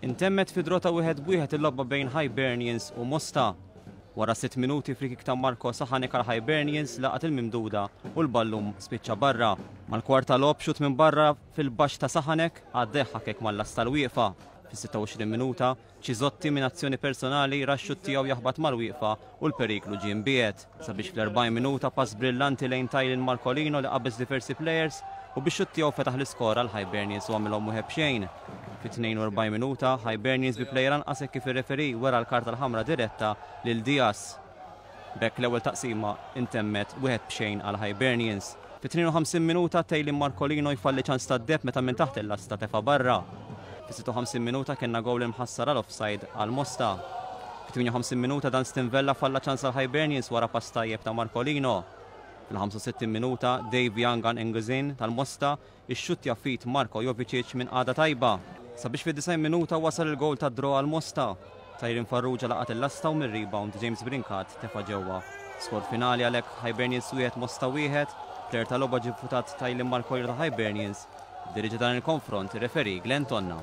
Intemmet fi draw ta' 1-1 il-logħba bejn Hibernians u Mosta. Wara sitt minuti free-kick ta' Marco Sahanek għal Hibernians laqat il-mimduda u l-ballun spiċċa barra. Mal-kwarta logħob xutt minn barra fil-baxx ta' Sahanek għaddeh ħakek mal-lasta l-wieqfa. Fis-26 minuta, Cisotti minn azzjoni personali ra x-xutt tiegħu jaħbat mal-wieqfa u l-periklu ġie mbiegħed. Sabiex fl-40 minuta pass brillanti lejn Tylin Marcolino li qabeż diversi plejers u bix-xutt tiegħu fetaħ l-iskor għal Hibernians u għamilhom wieħed b'xejn. Fit-42 minuta, Hibernians bi plejer anqas hekk kif ir-referee wera l-karta l-ħamra diretta lil Diaz. B'hekk l-ewwel taqsima intemmet 1-0 għal Hibernians. Fit-52 minuta Taylin Marcolino jfalli ċans tad-deheb meta minn taħt il-lasta tefa' barra. Fis-56 minuta kellna gowl imħassar għal offside għal Mosta. Fit-58 minuta Dunstan Vella falla ċans għal Hibernians wara pass tajjeb ta' Marcolino. Fil-65 minuta Dave Yangan Nguzin tal-Mosta Ixxuttja f'id Marko Jovicic minn qagħda tajba. Sabiex fid-90 minuta wasal il-gowl tad-draw għal Mosta. Tyron Farrugia laqat il-lasta u mir-rebound James Brincat tefa' ġewwa. Skor finali għalhekk Hibernians 1 Mosta 1. Plejer tal-logħba ġie vvutat Tylen Marcoiro ta' Hibernians. Iddiriġa dan il-konfront ir-referee Glenn Tonna.